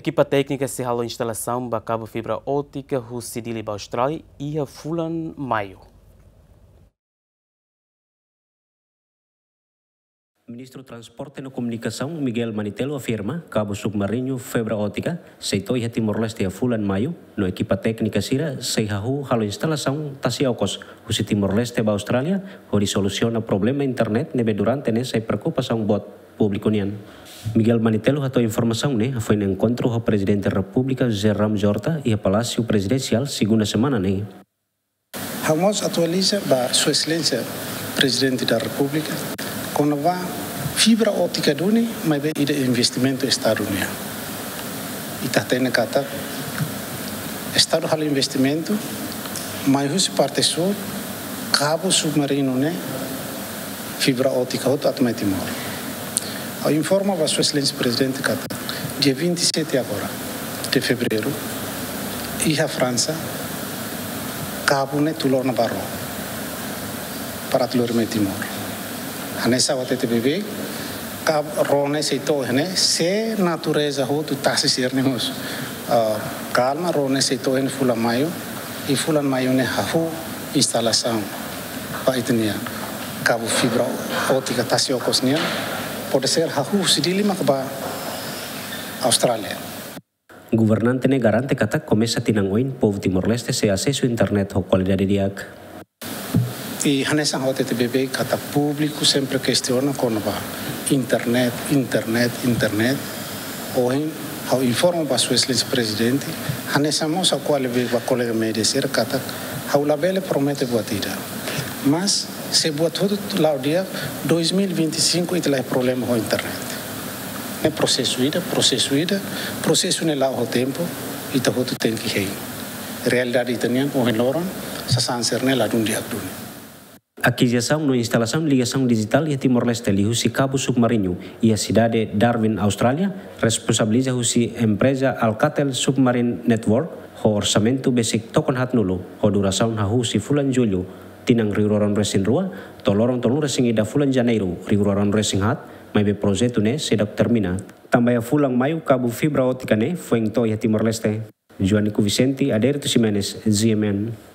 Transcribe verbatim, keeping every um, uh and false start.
Ekipa téknika sei halo instalasaun ba kabu fibra ótika husi Dili ba Austrália iha fulan Maiu. Ministru Transporte no Komunikasaun Miguel Manitelu afirma kabu submarinu fibra ótika sei to'o iha Timor-Leste iha fulan Maiu, no ekipa téknika sira sei hahú halo instalasaun tasi okos husi Timor-Leste ba Austrália, hodi solusiona problema internet ne'ebé durante ne'e sai preokupasaun boot públiku nian. Miguel Manitelu hato'o informasaun ne'e hafoin enkontru ho Prezidente Repúblika José Ramos Horta iha Palásiu Prezidensiál segunda semana ne'e. Ha'u mós atualiza ba Sua Exelénsia Prezidente da Repúblika kona-ba fibra ótika duni, maibé ida investimentu Estadu nian. Ita hatene katak Estadu halo investimentu, mai husi parte súl, kabu submarinu ne'e, fibra ótika hotu atu mai Timor. Ha'u informa ba Sua Exelénsia Prezidente katak dia vinte e sete agora de fevereiru, iha Fransa, kabu ne'e tuur ona ba ró para atu lori mai Timor. Hanesan hatete beibeik, kabu ró ne'e sei to'o iha ne'e, se natureza hotu tasi sira-ne'e mós, ah, kalma, ró ne'e sei to'o iha ne'e fulan Maiu, i fulan Maiu ne'e hahú instalasaun ba ita-nia kabu fibra ótika tasi okos nian, pode ser hahú husi Dili mak ba Austrália. Governante ne'e garante katak komesa tinan oin povu Timor-Leste sei asesu internet ho kualidade di'ak. I hanesan ha'u hatete beibeik katak públiku sempre kestiona kona-ba internet, internet, internet. Ohin ha'u informa ba Sua Exelénsia Prezidente, hanesan mós ha'u ko'alia ba kolega média sira katak ha'u labele promete buat ida. Mas se buat hotu la'o di'ak, dois mil e vinte e cinco ita laiha problema ho internet. Ne'e prosesu ida, prosesu ida, prosesu ne'e la'o ho tempu, ita hotu tenke hein. Realidade ita-nian ohin loron, sasán sira-ne'e ladún di'ak duni. Akizisaun no instalasaun ligasaun dijitál iha Timor-Leste liuhusi kabu submarinu iha sidade Darwin, Austrália, responsabiliza husi empreza Alcatel Submarine Network, ho orsamentu besik tokon haatnulu, ho durasaun hahú husi fulan Jullu tinan rihun rua ruanulu-resin-rua to'o loron tolunulu-resin-ida fulan Janeiru rihun rua ruanulu-resin-haat, maibé projetu ne'e seidauk termina. Tanba iha fulan Maiu kabu fibra ótika ne'e foin to'o iha Timor-Leste. Joanico Vicente, Adérito Ximenes, G M N.